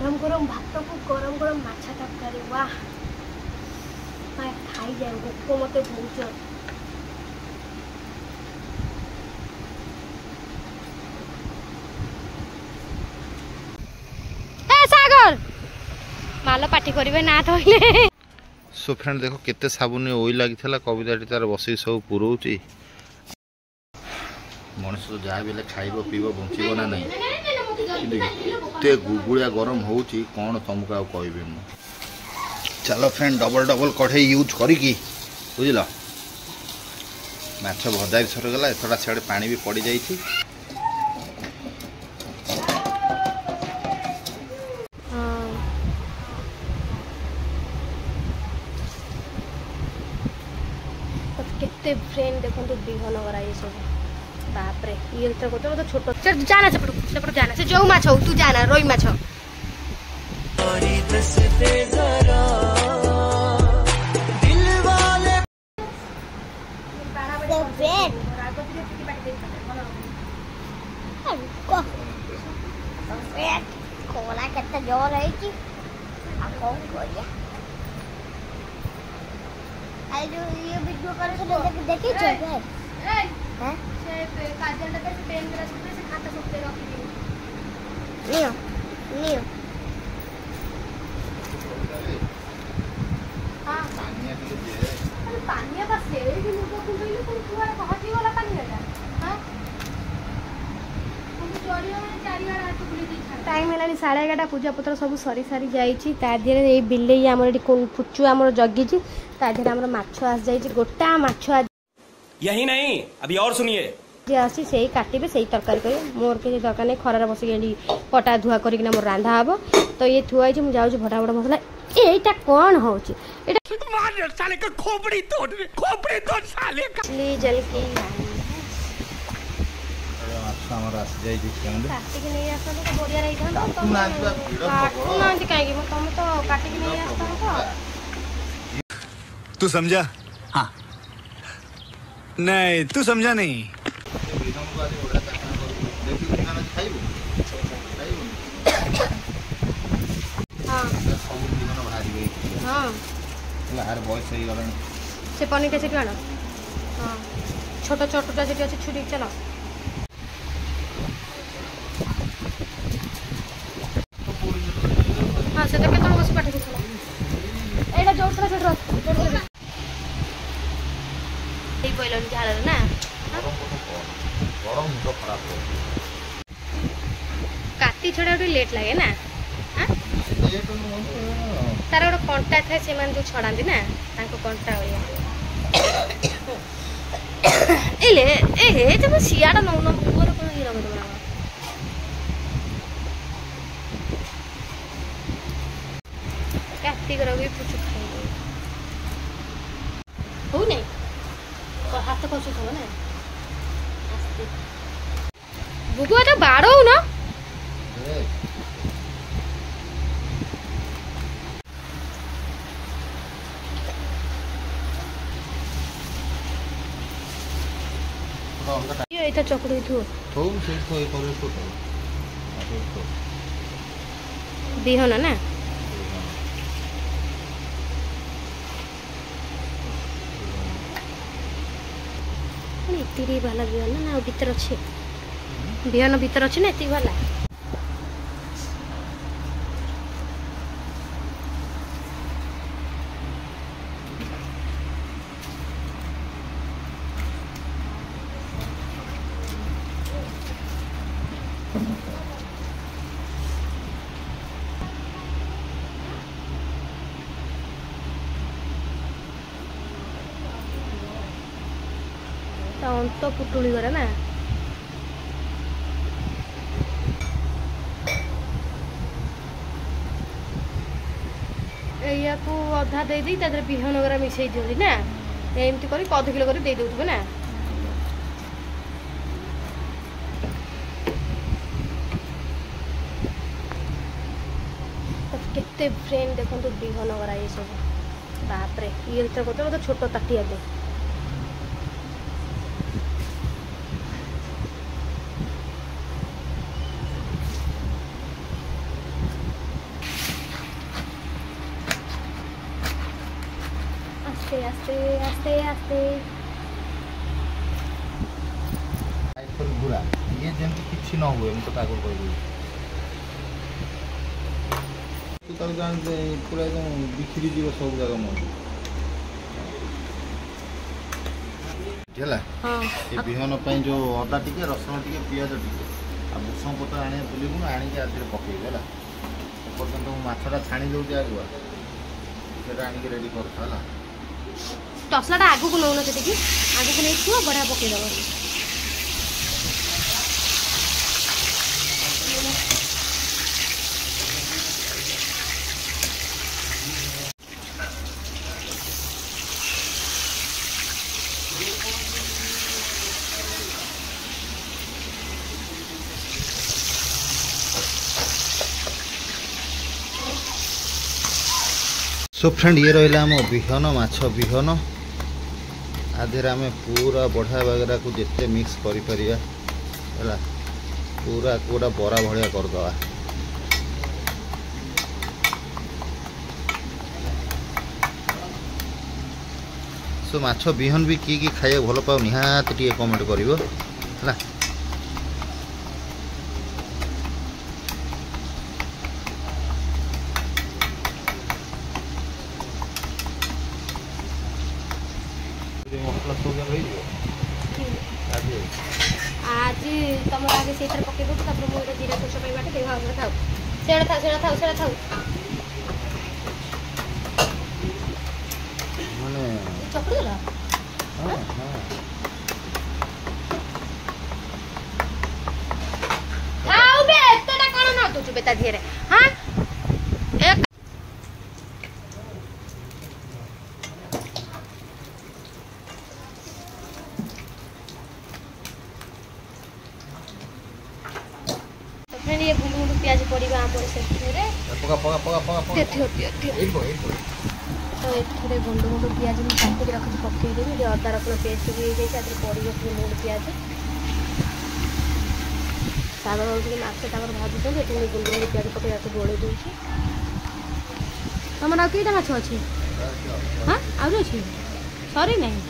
ଗରମ ଗରମ ଭାତକୁ ଗରମ ଗରମ ମାଛ ତରକାରୀ, ୱାହ, ଖାଇଯାଏ, ଭୋକ ମତେ ବହୁତ ଜୋର। ସାଗର ମାଲ ପାଟି କରିବେ ନା ଧଇଲେ। ସୋ ଫ୍ରେଣ୍ଡ, ଦେଖ କେତେ ସାବୁନ ଓଇ ଲାଗିଥିଲା, କବିତାଟି ତାର ବସିକି ସବୁ ପୁରଉଛି। ମଣିଷ ତ ଯାହା ବି ହେଲେ ଖାଇବ ପିଇବ ବଞ୍ଚିବ ନା ନାହିଁ? କିନ୍ତୁ ଏତେ ଗୁଗୁଳିଆ ଗରମ ହେଉଛି, କ'ଣ ତମକୁ ଆଉ କହିବି ମୁଁ। ଚାଲ ଫ୍ରେଣ୍ଡ, ଡବଲ ଡବଲ କଢ଼େଇ ୟୁଜ୍ କରିକି, ବୁଝିଲ, ମାଛ ଭଜା ବି ସରିଗଲା। ଏଥର ସିଆଡ଼େ ପାଣି ବି ପଡ଼ିଯାଇଛି। କେତେ ଫ୍ରେଣ୍ଡ ଦେଖନ୍ତୁ ବିହନ କରା ଇଏ ସବୁ, ବାପରେ। ଇଏ ଯେତେବେଳେ କରୁଛ ମତେ ଛୋଟ ଜାନା, ସେପଟକୁ ସେପଟୁ ଜାନା, ସେ ଯୋଉ ମାଛ ହଉ ତୁ ଜାନା, ରୋହି ମାଛ। ଖରା କେତେ ଜୋର ହେଇଛି, ଆଉ କଣ କରିବା? ଆଉ ଯୋଉ ଇଏ ଭିଡିଓ କରିଥିଲେ ଦେଖିଛ? ହଁ, ସେ କାଜଲଟା ସେ ପେନ୍ ସେ ଖାତା ସବୁ ରଖିଦିଏ। ନିଅ ନିଅ। ପାନିଆ ବା ସେଇଠି ମୁଣ୍ଡ କୁଣ୍ଡେଇଲୁ, ପୁଣି କୁଆଡ଼େ ହଜିଗଲା ପାନିଆଟା? ହଁ, ଟାଇମ୍ ହେଲାଣି 11:30। ପୂଜାପତ୍ର ସବୁ ସରି ସାରି ଯାଇଛି। ତା ଦେହରେ ଏଇ ବିଲେଇ ଆମର ଏଠି ପୁଚୁ ଆମର ଜଗିଛି। ତା ଦେହରେ ଆମର ମାଛ ଆସିଯାଇଛି, ଗୋଟା ମାଛ। यही नहीं, अभी और सुनिए। ଯିଏ ଆସି ସେଇ କାଟିବେ, ସେଇ ତରକାରୀ କରିବେ, ମୋର କିଛି ଦରକାର ନାହିଁ। ଖରାରେ ବସିକି ଏଠି କଟା ଧୁଆ କରିକିନା ମୋର ରାନ୍ଧା ହବ। ତ ଇଏ ଥୁଆ ହେଇଛି, ମୁଁ ଯାଉଛି ଭଟାଭଟ ମସଲା। ଏଇଟା କ'ଣ ହଉଛି ଏଇଟା? ଜଲକି ମାଛ ଆମର ଆସିଯାଇଛି। କାଟିକି ନେଇ ଆସନ୍ତୁ ତ ବଢିଆ ହେଇଥାନ୍ତା। କାଟୁନାହାନ୍ତି କାହିଁକି? ତମେ ତ କାଟିକି ନେଇ ଆସିଥାନ୍ତ। तू समझा? हाँ, नहीं, तू समझा नहीं। ବୟସ ହେଇଗଲାଣି। ସେ ପନିରଟା ସେଠୁ ଆଣ। ହଁ, ଛୋଟ ଛୋଟଟା ସେଠି ଅଛି, ଛୁରୀ। ଚାଲ। ହଁ, ସେ ତ କେତେବେଳେ ବସି ପାଠ ପଢୁଥିଲା। ଏଇଟା ଯୋଉଠି ଥିଲା ସେଠି ରଖ। ହେଇ ପଇଲାଣି ଝାଳରେ ନା? ଗରମ ମୁଣ୍ଡ ଖରାପ। କାତି ଛଡ଼ା ଟିକେ ଲେଟ୍ ଲାଗେ ନା? ତାର ଗୋଟେ କଣ୍ଟା ଥାଏ, ସେମାନେ ଯୋଉ ଛଡ଼ାନ୍ତି ନା, ତାଙ୍କ କଣ୍ଟା ଭଳିଆ। ଏଲେ ଏ ହେ, ତମେ ସିଆଡ଼େ ନଉନ, ମୁହଁରେ କଣ ଇଏ ଲଗେଇଦବ ନା କଣ? କାର୍ତ୍ତିକର ବି ପୁଚୁ ଖାଇବ ହଉ ନାଇଁ, ହାତ ଖସୁଥିବ ନା। ଆସ୍ତେ ବୁବୁ, ଏଟା ବାଡ଼ଉନ। ଏଇଟା ଚକୁଡ଼ି ଥୁ। ବିହନ ନା? ଏତିକି ବାଲା ବିହନ ନା ଆଉ ଭିତରେ ଅଛି ବିହନ? ଭିତରେ ଅଛି ନା ଏତିକି ବାଲା? ତା ଅନ୍ତ ପୁଟୁଳି କରେ ନା? ଏଇଆକୁ ଅଧା ଦେଇଦେଇ ତା ଦେହରେ ବିହନ ଗୁରା ମିଶେଇ ଦିଅନ୍ତି ନା? ଏମିତି କରି ଅଧ କିଲୋ କରି ଦେଇ ଦେଉଥିବେ ନା? କେତେ ଫ୍ରେଣ୍ଡ ଦେଖନ୍ତୁ ବିହନ ଗୁରା ଏ ସବୁ, ବାପରେ। ଇଏ ଯେତେବେଳେ କରୁଛ ମତେ ଛୋଟ ତାଟିଆ ଦେ। ଆସ୍ତେ ଆସ୍ତେ ଆସ୍ତେ। ଘୁରା ଇଏ ଯେମିତି କିଛି ନ ହୁଏ, ମୁଁ ତୋତେ ଆଗରୁ କହିଦେବି। ତୁ ତାକୁ ଜାଣି ପୁରା ଏକଦମ ବିଖିରି ଯିବ ସବୁ ଜାଗା ମଞ୍ଜି ହେଲା। ଏ ବିହନ ପାଇଁ ଯୋଉ ଅଦା ଟିକେ, ରସୁଣ ଟିକେ, ପିଆଜ ଟିକେ ଆଉ ଭୃଷଙ୍ଗ ପତ୍ର ଆଣିବା ଭୁଲିବୁନୁ, ଆଣିକି ଆଥିରେ ପକେଇବୁ ହେଲା। ଏପର୍ଯ୍ୟନ୍ତ ମୁଁ ମାଛଟା ଛାଣି ଦେଉଛି, ଆଗୁଆ ସେଟା ଆଣିକି ରେଡ଼ି କରୁଥା ହେଲା। ତସଲାଟା ଆଗକୁ ନଉନ, ସେତିକି ଆଗକୁ ନେଇଥିବ, ବଢ଼ିଆ ପକେଇଦେବ। ସୋ ଫ୍ରେଣ୍ଡ, ଇଏ ରହିଲା ଆମ ବିହନ, ମାଛ ବିହନ। ଆ ଦେହରେ ଆମେ ପୁରା ବଢ଼ିଆ ବାଗରାକୁ ଯେତେ ମିକ୍ସ କରିପାରିବା ହେଲା, ପୁରା ଗୋଟେ ବରା ଭଳିଆ କରିଦେବା। ସୋ ମାଛ ବିହନ ବି କିଏ କିଏ ଖାଇବାକୁ ଭଲ ପାଉ, ନିହାତି ଟିକେ କମେଣ୍ଟ କରିବ ହେଲା। ମସଲା ସବୁ ଯାକ ହେଇଯିବ ଆଜି। ଆଜି ତମର ଆଗେ ସେଇଥିରେ ପକେଇ ଦେବୁ, ତାପରେ ମୁଁ ଏଇଟା ଜିରା ସୋରିଷ ପାଇଁ ବାଟି ଦେବି। ହଁ, ସେଟା ଥାଉ, ସେଟା ଥାଉ, ସେଟା ଥାଉ, ସେଟା ଥାଉ। ମାନେ ଚକୁଡ଼ି ଦେଲ? ହଁ ହଁ। ଥାଉ ବେ, ଏତେଟା କଣ ନ ଦଉଛୁ ବେ ତା ଦେହରେ? ହଁ, ଏ ତ ଫ୍ରେଣ୍ଡ, ଇଏ ଗୁଣ୍ଡୁ ଗୁଣ୍ଡୁ ପିଆଜ ପଡ଼ିବ ଆମର ସେଥିରେ। ପକା ପକା ପକା ପକା ପକା। ଏଠି ଏଠି ଏଠି। ଏଇଠି ପକା, ଏଇଠି ପକା। ତ ଏଥିରେ ଗୁଣ୍ଡ ଗୁଣ୍ଡ ପିଆଜ ମୁଁ କାଟିକି ରଖିଛି, ପକେଇଦେବି। ଏଠି ଅଦା ରସୁଣ ପେଷ୍ଟ ବି ହେଇଯାଇଛି, ଆ ଦେହରେ ପଡ଼ିବ ଗୁଣ୍ଡ ଗୁଣ୍ଡ ପିଆଜ। ସାଗର ହେଉଛନ୍ତି ମାଛ ତାଙ୍କର ଭାଜୁଛନ୍ତି, ଏଠି ମୁଁ ଗୁଣ୍ଡ ଗୁଣ୍ଡ ପିଆଜ ପକେଇ ତାକୁ ଗୋଳେଇ ଦେଉଛି। ତମର ଆଉ କେଇଟା ମାଛ ଅଛି? ହଁ, ଆହୁରି ଅଛି, ସରି ନାହିଁ।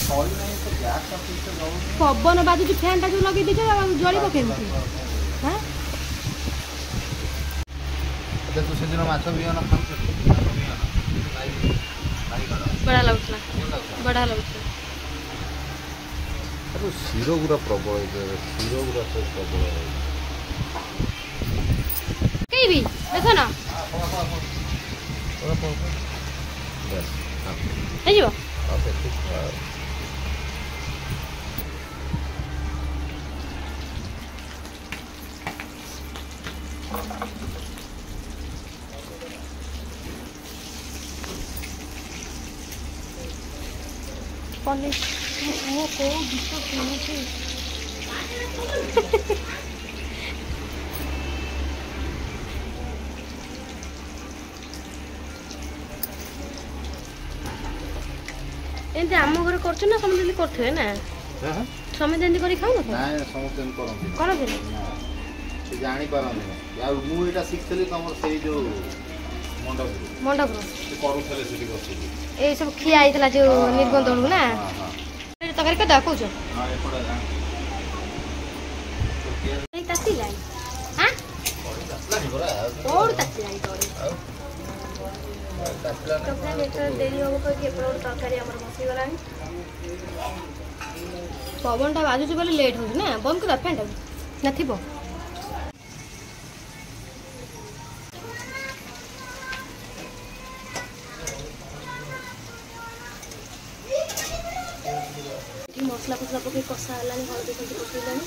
ସରି ନାହିଁ ତ, ଗ୍ୟାସଟା ଠିକ୍ ସେ ଜଳୁନି। ପବନ ବାଜୁଛି, ଫ୍ୟାନ୍ଟା ଯୋଉ ଲଗେଇ ଦେଇଛ ଜଳିବ କେମିତି? ହଁ। ଆଚ୍ଛା, ତୁ ସେଦିନ ମାଛ ବିହନ ଖାଉଥିଲୁ? ମାଛ ବିହନ ବାଇଗଣ ବଢ଼ିଆ ଲାଗୁଥିଲା। ଭଲ ଲାଗୁଥିଲା। ବଢ଼ିଆ ଲାଗୁଥିଲା। ଆରେ, ଶିର ଗୁଡ଼ା ପ୍ରବଳ ହେଇଥାଏ, ଶିର ଗୁଡ଼ା ସବୁ ପ୍ରବଳ ହେଇଥାଏ। ପକେଇବି ବେସନ? ପକା ପକା, ବାସ୍। ହେଇଯିବ। ଆଉ ସେତିକି ଆଉ। ପନିର ମୁଁ କୋଉ ଗୀତ ଶୁଣୁଛି? ଏମିତି ଆମ ଘରେ କରୁଛୁ ନା ସମସ୍ତେ ଏମିତି କରୁଥିବେ ନା? ହଁ। ସମସ୍ତେ ଏମିତି କରି ଖାଉନଥିବେ? ନାଇଁ, ସମସ୍ତେ ଏମିତି କରନ୍ତି? କରନ୍ତିନି ନା, ସେ ଜାଣିପାରନ୍ତିନି। ଆଉ ମୁଁ ଏଇଟା ଶିଖିଥିଲି ତମର ସେଇ ଯୋଉ ମଣ୍ଡପରୁ। ମଣ୍ଡପରୁ ସେ କରୁଥିଲେ ସେଠି ବସିକି। ଏଇ ସବୁ ଖିଆ ହେଇଥିଲା ଯୋଉ ନିର୍ବନ୍ଧ ବେଳକୁ ନା? ହଁ ହଁ। ତରକାରୀ କରିଦେବା କହୁଛ? ହଁ, ଏପଟେ ଏଇ ତାତିଲାଣି। ହାଁ, କୋଉଠୁ ତାତିଲାଣି ତୋର? ଆଉ ତାତିଲା। ତ ଫ୍ରେଣ୍ଡ, ଏଥର ଡେରି ହବ କହିକି ଏପଟେ ଗୋଟେ ତରକାରୀ ଆମର ବସିଗଲାଣି। ପବନଟା ବାଜୁଛି ବୋଲି ଲେଟ୍ ହଉଛି ନା? ବନ୍ଦ କରିଦେବା ଫ୍ୟାନ୍ଟାକୁ ନା ଥିବ? ଏଠି ମସଲା ଫସଲା ପକେଇ କଷା ହେଲାଣି, ହଳଦୀ ଫଳଦୀ ପକେଇଲାଣି।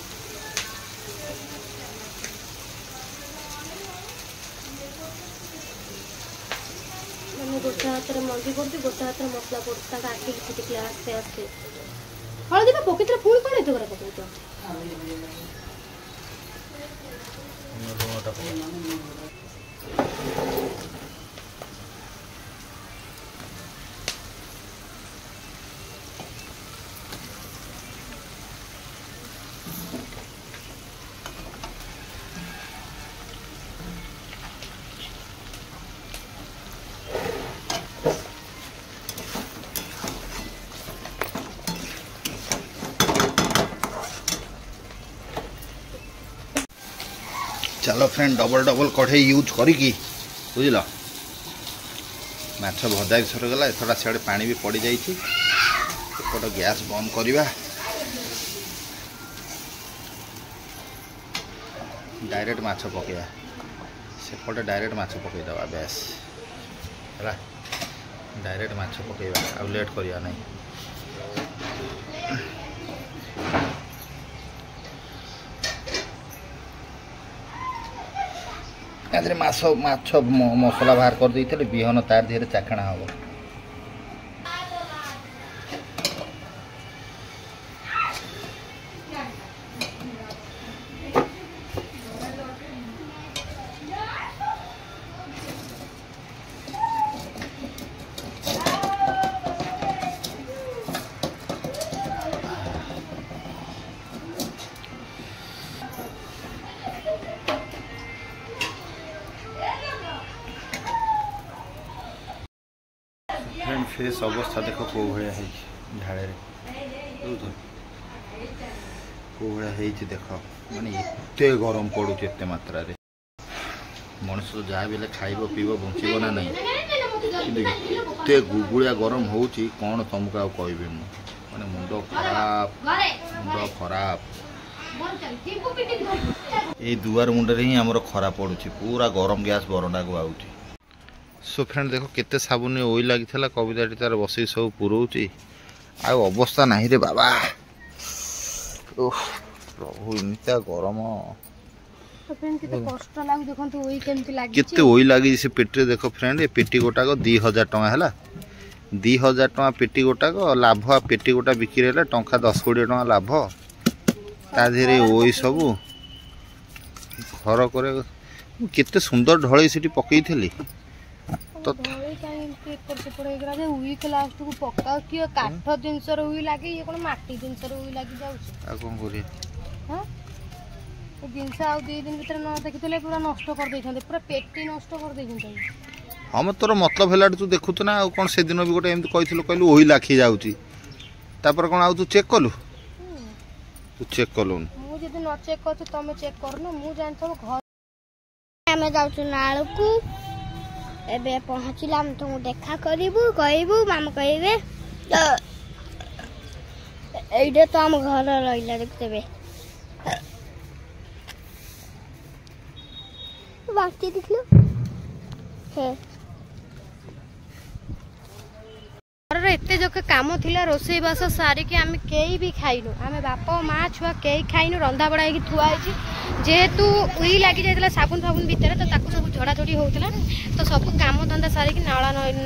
ମାନେ ଗୋଟେ ହାତରେ ମଞ୍ଜି ପଡୁଛି, ଗୋଟେ ହାତରେ ମସଲା ପଡୁଛି, ତାଙ୍କ ଆଖି ଫିଟିକିଲା। ଆସ୍ତେ ଆସ୍ତେ। ହଳଦୀ ବା ପକେଇଥିଲେ, ପୁଣି କଣ ଏତେ ଗୁରା ପକଉଛ? ଲୁଣଟା ପକା। ଚାଲ ଫ୍ରେଣ୍ଡ, ଡବଲ ଡବଲ କଢ଼େଇ ୟୁଜ୍ କରିକି, ବୁଝିଲ, ମାଛ ଭଜା ବି ସରିଗଲା। ଏଥର ସିଆଡ଼େ ପାଣି ବି ପଡ଼ିଯାଇଛି। ଏପଟ ଗ୍ୟାସ୍ ବନ୍ଦ କରିବା, ଡାଇରେକ୍ଟ ମାଛ ପକେଇବା। ସେପଟେ ଡାଇରେକ୍ଟ ମାଛ ପକେଇଦେବା, ବ୍ୟାସ୍ ହେଲା। ଡାଇରେକ୍ଟ ମାଛ ପକେଇବା, ଆଉ ଲେଟ୍ କରିବା ନାହିଁ। ତା ଦେହରେ ମାଛ ମସଲା ବାହାର କରିଦେଇଥିଲେ, ବିହନ ତାର ଦେହରେ ଚାଖଣା ହେବ। ଫେସ୍ ଅବସ୍ଥା ଦେଖ କେଉଁ ଭଳିଆ ହେଇଛି ଝାଳରେ, ବୁଝୁଛ, କେଉଁ ଭଳିଆ ହେଇଛି ଦେଖ। ମାନେ ଏତେ ଗରମ ପଡ଼ୁଛି ଏତେ ମାତ୍ରାରେ, ମଣିଷ ତ ଯାହା ବି ହେଲେ ଖାଇବ ପିଇବ ବଞ୍ଚିବ ନା ନାହିଁ? କିନ୍ତୁ ଏତେ ଗୁଗୁଳିଆ ଗରମ ହେଉଛି, କ'ଣ ତୁମକୁ ଆଉ କହିବି ମୁଁ। ମାନେ ମୁଣ୍ଡ ଖରାପ, ମୁଣ୍ଡ ଖରାପ। ଏଇ ଦୁଆର ମୁଣ୍ଡରେ ହିଁ ଆମର ଖରା ପଡ଼ୁଛି, ପୁରା ଗରମ ଗ୍ୟାସ୍ ବରଣ୍ଡାକୁ ଆଉଛି। ସୋ ଫ୍ରେଣ୍ଡ ଦେଖ କେତେ ସାବୁନ ଓଇ ଲାଗିଥିଲା, କବିତାଟି ତାର ବସିକି ସବୁ ପୁରଉଛି। ଆଉ ଅବସ୍ଥା ନାହିଁ ରେ ବାବା। ଓଃ ପ୍ରଭୁ, ଏମିତିଆ ଗରମ, କେତେ ଓଇ ଲାଗିଛି ସେ ପେଟିରେ ଦେଖ ଫ୍ରେଣ୍ଡ। ଏ ପେଟି ଗୋଟାକ 2000 ଟଙ୍କା ହେଲା, 2000 ଟଙ୍କା ପେଟି ଗୋଟାକ ଲାଭ। ପେଟି ଗୋଟା ବିକ୍ରି ହେଲେ ଟଙ୍କା 10 20 ଟଙ୍କା ଲାଭ। ତା ଦେହରେ ଓଇ ସବୁ ଘର করে। ମୁଁ କେତେ ସୁନ୍ଦର ଢଳେଇ ସେଠି ପକେଇଥିଲି। କାଠ ଜିନିଷର ଉଇ ଲାଗେ, ଇଏ କଣ ମାଟି ଜିନିଷର ଉଇ ଲାଗି ଯାଉଛି। ଆଉ କଣ କରିବା? ଜିନିଷ ଆଉ 2 ଦିନ ଭିତରେ ନ ଦେଖିଥିଲେ ପୁରା ନଷ୍ଟ କରିଦେଇଥାନ୍ତେ, ପୁରା ପେଟି ନଷ୍ଟ କରିଦେଇଛନ୍ତି। ହଁ ମ, ତୋର ମତଲବ ହେଲାଠୁ ତୁ ଦେଖୁଛୁ ନା ଆଉ କ'ଣ? ସେଦିନ ବି ଗୋଟେ ଏମିତି କହିଥିଲୁ, କହିଲୁ ଓଇ ଲାଖି ଯାଉଛି। ତାପରେ କ'ଣ ଆଉ ତୁ ଚେକ୍ କଲୁ? ତୁ ଚେକ୍ କଲୁନି। ମୁଁ ଯଦି ନ ଚେକ୍ କରୁଛି, ତମେ ଚେକ୍ କରୁନ, ମୁଁ ଜାଣିଥିବ ଘର। ଆମେ ଯାଉଛୁ ନାଳକୁ ଏବେ। ପହଞ୍ଚିଲେ ଆମେ ତମକୁ ଦେଖା କରିବୁ, କହିବୁ, ମାମା କହିବେ। ଏଇଟା ତ ଆମ ଘର ରହିଲା, ଦେଖୁଥିବେ। ବାକି ଦେଖିଲୁ ହେ। ଘରର ଏତେ ଯୋକେ କାମ ଥିଲା, ରୋଷେଇବାସ ସାରିକି ଆମେ କେହି ବି ଖାଇନୁ। ଆମେ ବାପ ମା ଛୁଆ କେହି ଖାଇନୁ। ରନ୍ଧାବଢ଼ା ହେଇକି ଥୁଆ ହେଇଛି। ଯେହେତୁ ଉଇ ଲାଗି ଯାଇଥିଲା ସାବୁନ ଫାବୁନ ଭିତରେ, ତ ତାକୁ ସବୁ ଝଡ଼ାଝଡ଼ି ହେଉଥିଲା। ତ ସବୁ କାମ ଧନ୍ଦା ସାରିକି ନାଳ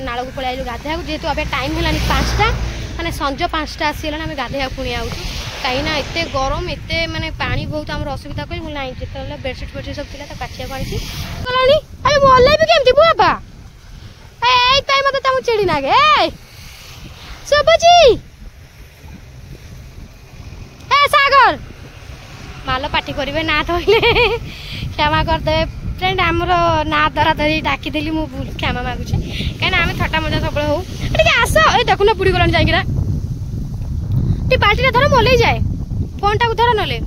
ନାଳକୁ ପଳେଇ ଆଇଲୁ ଗାଧେଇବାକୁ। ଯେହେତୁ ଏବେ ଟାଇମ୍ ହେଲାଣି 5ଟା, ମାନେ ସଞ୍ଜ 5ଟା ଆସିଗଲାଣି, ଆମେ ଗାଧେଇବାକୁ ପୁଣି ଆଉଛୁ। କାହିଁକିନା ଏତେ ଗରମ, ଏତେ ମାନେ ପାଣି ବହୁତ ଆମର ଅସୁବିଧା କରି ମୁଁ ନାଇଁ। ଯେତେବେଳେ ବେଡ଼ସିଟ୍ ଫେଡ଼ସିଟ୍ ସବୁ ଥିଲା, ତାକୁ କାଚିବାକୁ ଆଣିଛି ଗଲାଣି। ଆରେ ମୁଁ ଓହ୍ଲେଇବି କେମିତି ବୁଆ? ଏଇ ପାଇଁ ମତେ ତମକୁ ଚିଡ଼ି ନାଗେ। ଏ ଶୁଭୁଛି, ଏ ସାଗର ମାଲ ପାଟି କରିବେ ନା ଧରିଲେ, କ୍ଷମା କରିଦେବେ ଫ୍ରେଣ୍ଡ। ଆମର ନା ଧରା ଧରି ଡାକିଦେଲି, ମୁଁ ଭୁଲ, କ୍ଷମା ମାଗୁଛି। କାହିଁକିନା ଆମେ ଥଟ୍ଟା ମଜା ସବୁବେଳେ ହଉ। ଟିକେ ଆସ, ଏଇ ଦେଖୁନ ବୁଡ଼ି ଗଲାଣି ଯାଇକିନା। ଟିକେ ବାଲ୍ଟିଟା ଧର, ମୁଁ ଓହ୍ଲେଇ ଯାଏ। ଫୋନଟାକୁ ଧର ନହେଲେ।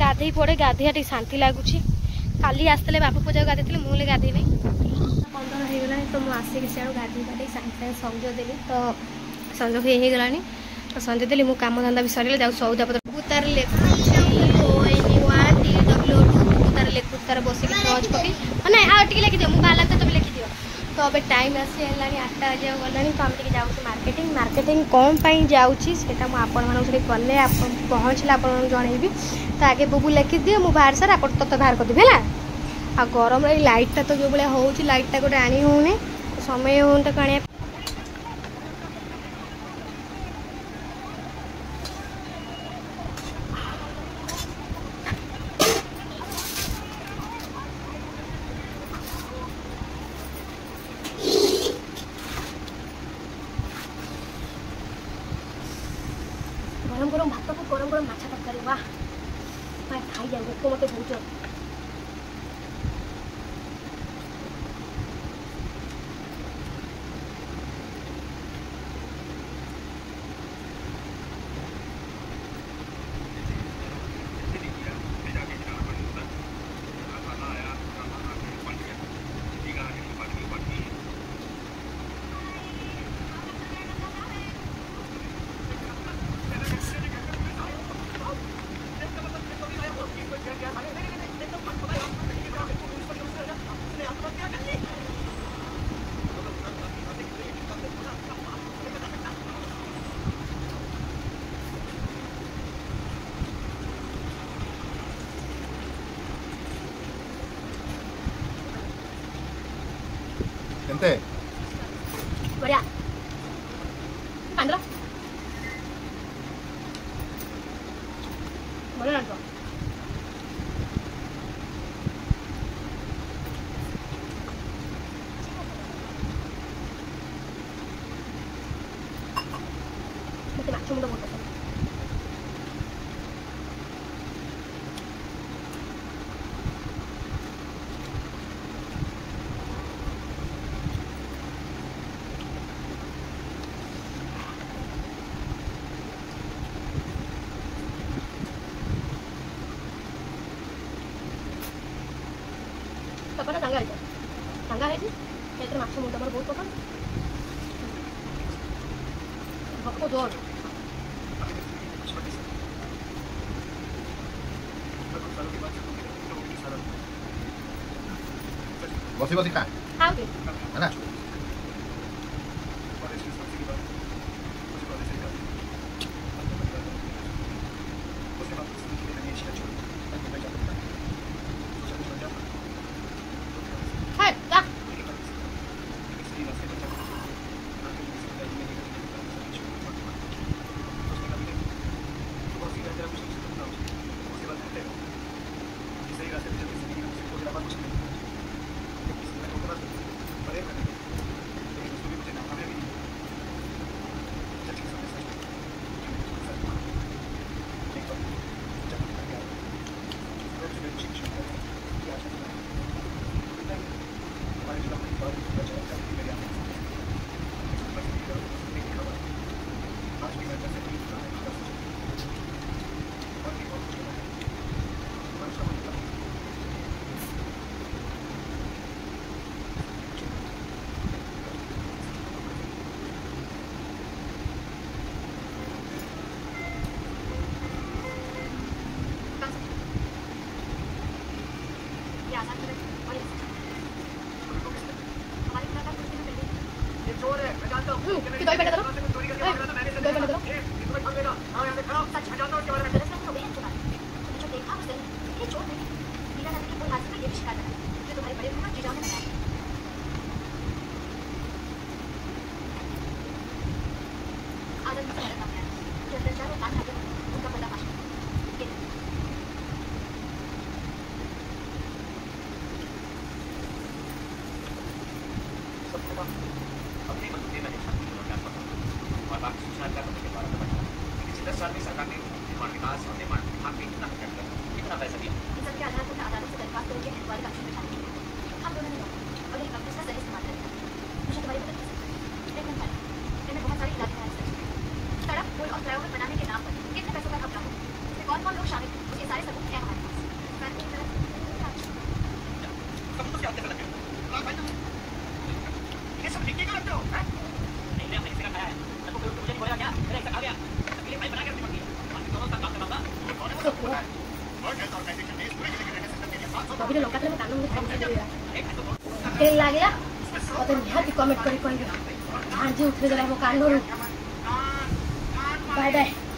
ଗାଧେଇ ପଡ଼େ, ଗାଧେଇବା ଟିକେ ଶାନ୍ତି ଲାଗୁଛି। କାଲି ଆସିଥିଲେ ବାପୁ ପୂଜାକୁ ଗାଧେଇଥିଲେ, ମୁଁ ହେଲେ ଗାଧେଇନି। 15 ହେଇଗଲାଣି, ତ ମୁଁ ଆସିକି ସିଆଡ଼ୁ ଗାଧେଇ ପାଧେଇ ସାଙ୍ଗେ ସାଙ୍ଗେ ସଞ୍ଜ ଦେଲି। ତ ସଞ୍ଜ ହେଇଗଲାଣି, ତ ସଞ୍ଜ ଦେଲି ମୁଁ, କାମ ଧନ୍ଦା ବି ସରିଗଲା। ଯାଉ ସଉଦା ପତ୍ର। ତାର ଲେଖୁଛି O N 1 T W 2। ତାର ଲେଖୁଛି ତାର ବସିକି ଟର୍ଚ୍ଚ ପକେଇ। ନାଇଁ, ଆଉ ଟିକେ ଲେଖିଦିଅ, ମୁଁ ବାହାରିଲା ତ ତମେ ଲେଖିଦିଅ। ତ ଏବେ ଟାଇମ୍ ଆସି ହେଲାଣି 8ଟା ବାଜିବାକୁ ଗଲାଣି, ତ ଆମେ ଟିକେ ଯାଉଛୁ ମାର୍କେଟିଂ। ମାର୍କେଟିଂ କ'ଣ ପାଇଁ ଯାଉଛି ସେଇଟା ମୁଁ ଆପଣମାନଙ୍କୁ ସେଠି ଗଲେ, ଆପଣ ପହଞ୍ଚିଲେ ଆପଣମାନଙ୍କୁ ଜଣେଇବି। ତ ଆଗେ ବୁବୁ ଲେଖିଦିଅ, ମୁଁ ବାହାର ସାର୍ ଆପଣ ତତେ ବାହାର କରିଦେବି ହେଲା। ଆଉ ଗରମରେ ଏଇ ଲାଇଟ୍ଟା ତ ଯେଉଁ ଭଳିଆ ହେଉଛି, ଲାଇଟ୍ଟା ଗୋଟେ ଆଣି ହେଉନି, ସମୟ ହେଉନି ତାକୁ ଆଣିବା। ଗରମ ଗରମ ଭାତକୁ ଗରମ ଗରମ ମାଛ ତରକାରୀ, ବା ଖାଇଯାଉ, ଭୋକ ମୋତେ ବହୁତ। କେନ୍ତେ ବଢିଆ 15 ବଢିଆ ଲାଗିବ। ମତେ ମାଛ ମୁଣ୍ଡ ବହୁତ ପସନ୍ଦ। ସଫାଟା ଚାଙ୍ଗା ହେଇଛି, ଚାଙ୍ଗା ହେଇଛି। ସେଥିରେ ମାଛ ମୁଣ୍ଡ ମୋର ବହୁତ ପସନ୍ଦ। ଭୋକ ଜୋର। ବସି ବସି ଖା। ଖାଉଛି। ହେଲା। ଖାଏ ଯା। कि दही बना दो, दही बना दो। ଦହିରେ ଲଙ୍କା ଥିଲେ ମୋ କାନ ମୁଣ୍ଡ ଝାଞ୍ଜି। କେମିତି ଲାଗିଲା ମତେ ନିହାତି କମେଣ୍ଟ କରି କହିବେ। ଝାଞ୍ଜି ଉଠେଇଦେଲା ମୋ କାନରୁ। Bye bye.